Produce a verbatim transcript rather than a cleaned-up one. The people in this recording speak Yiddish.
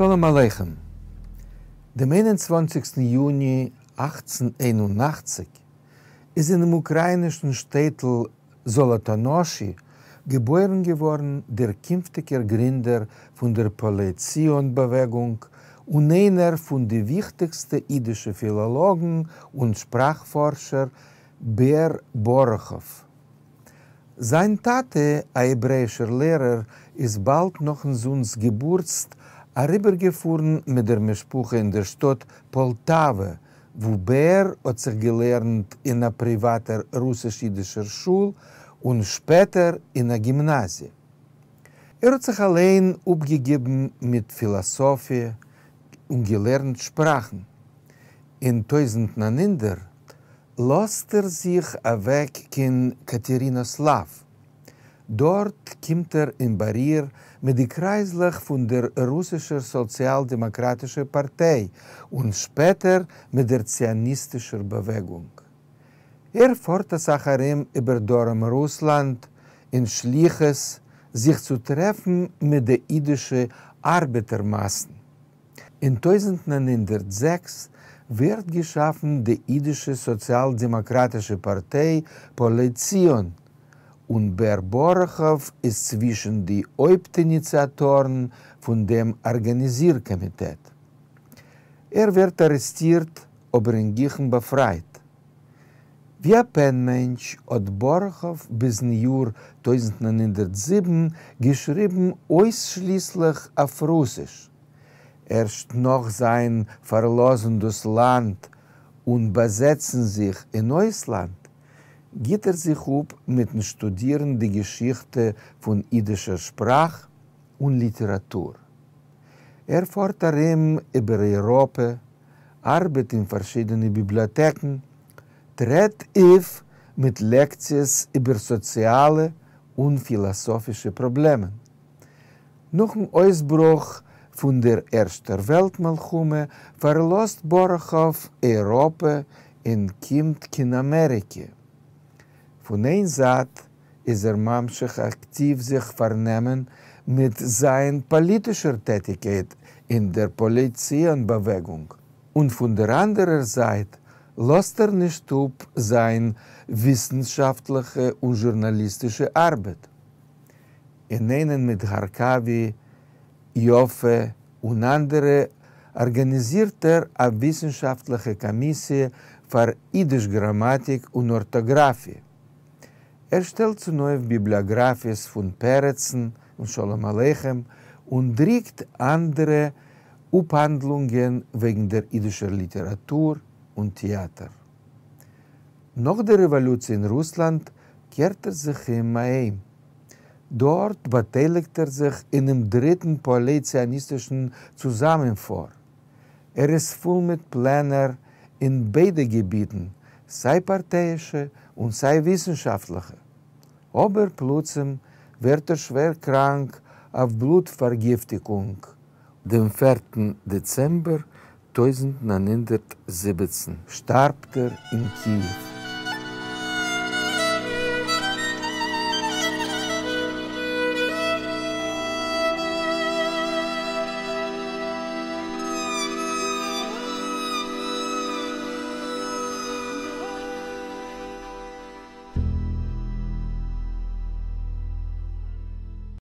שלום עליכם. דעם איין און צוואַנציקסטן יוני אַכצן איין און אַכציק איז אינעם אוקראַיִנישן שטעטל זאָלאָטאָנאָשי געבוירן געוואָרן דער קינפֿטיקער גרינדער פֿון דער פּועלי-ציון-באַוועגונג און איינער פֿון די וויכטיקסטע ייִדישע פֿילאָלאָגן און שפּראַכפֿאָרשער בער באָראָכאָוו. זײַן טאַטע, אַ העברעיִשער לערער, איז באַלד נאָכן זונס געבורט אַריבערגעפֿאָרן מיט דער משפּחה אין דער שטאָט פּאָלטאַווע, וווּ בער האָט זיך געלערנט אין אַ פּריוואַטער רוסיש-ייִדישער שול און שפּעטער אין אַ גימנאַזיע. ער האָט זיך אַליין אָפּגעגעבן מיט פֿילאָסאָפֿיע און געלערנט שפּראַכן. אין טויזנט נײַן הונדערט לאָזט ער זיך אַוועק קיין קאַטערינאָסלאַוו. דאָרט קומט ער אין באַריר מיט די קרײַזלעך פֿון דער רוסישער סאָציאַל-דעמאָקראַטישער פּאַרטיי און שפּעטער מיט דער ציוניסטישער באַוועגונג. ער פֿאָרט אַ סך אַרום איבער דרום-רוסלאַנד אין שליחות זיך צו טרעפֿן מיט די ייִדישע אַרבעטער-מאַסן. אין טויזנט נײַן הונדערט זעקס ווערט געשאַפֿן די ייִדישע סאָציאַל-דעמאָקראַטישע פּאַרטיי פּועלי-ציון, און בער באָראָכאָוו איז צווישן די הויפּט-איניציאַטאָרן פֿון דעם אָרגאַניזיר-קאָמיטעט. ער ווערט אַרעסטירט, אָבער אין גיכן באַפֿרײַט. ווי אַ פּען-מענטש האָט באָראָכאָוו ביזן יאָר טויזנט נײַן הונדערט זיבן געשריבן אויסשליסלעך אויף רוסיש. ערשט נאָך זײַן פֿאַרלאָזן דאָס לאַנד און באַזעצן זיך אין אויסלאַנד, גיט ער זיך אָפּ מיטן שטודירן די געשיכטע פֿון ייִדישער שפּראַך און ליטעראַטור. ער פֿאָרט אַרום איבער אייראָפּע, אַרבעט אין פֿאַרשיידענע ביבליאָטעקן, טרעט אויף מיט לעקציעס איבער סאָציאַלע און פֿילאָסאָפֿישע פּראָבלעמען. נאָכן אויסברוך פֿון דער ערשטער וועלט-מלחמה פֿאַרלאָזט באָראָכאָוו אייראָפּע און קומט קיין אַמעריקע. פֿון איין זײַט איז ער ממשיך אַקטיוו זיך פֿאַרנעמען מיט זײַן פּאָליטישער טעטיקייט אין דער פּועלי-ציון-באַוועגונג, און פֿון דער אַנדערער זײַט לאָזט ער נישט אָפּ זײַן וויסנשאַפֿטלעכע און זשורנאַליסטישע אַרבעט. אין איינעם מיט האַרקאַווי, יאָפֿע און אַנדערע אָרגאַניזירט ער אַ וויסנשאַפֿטלעכע קאָמיסיע פֿאַר ייִדיש-גראַמאַטיק און אָרטאָגראַפֿיע. ער שטעלט צונויף ביבליאָגראַפֿיעס פֿון פּרצן און שלום-עליכם און דרוקט אַנדערע אָפּהאַנדלונגען וועגן דער ייִדישער ליטעראַטור און טעאַטער. נאָך דער רעוואָלוציע אין רוסלאַנד קערט ער זיך אום אַהיים. דאָרט באַטייליקט ער זיך אינעם דריטן פּועלי-ציוניסטישן צוזאַמענפֿאָר. ער איז פֿול מיט פּלענער אין ביידע געביטן, סײַ פּאַרטייאישע און סײַ וויסנשאַפֿטלעכע. אָבער פּלוצעם ווערט ער שווער קראַנק אויף בלוט-פֿאַרגיפֿטיקונג. דעם פֿערטן דעצעמבער טויזנט נײַן הונדערט זיבעצן שטאַרבט ער אין קיִעוו.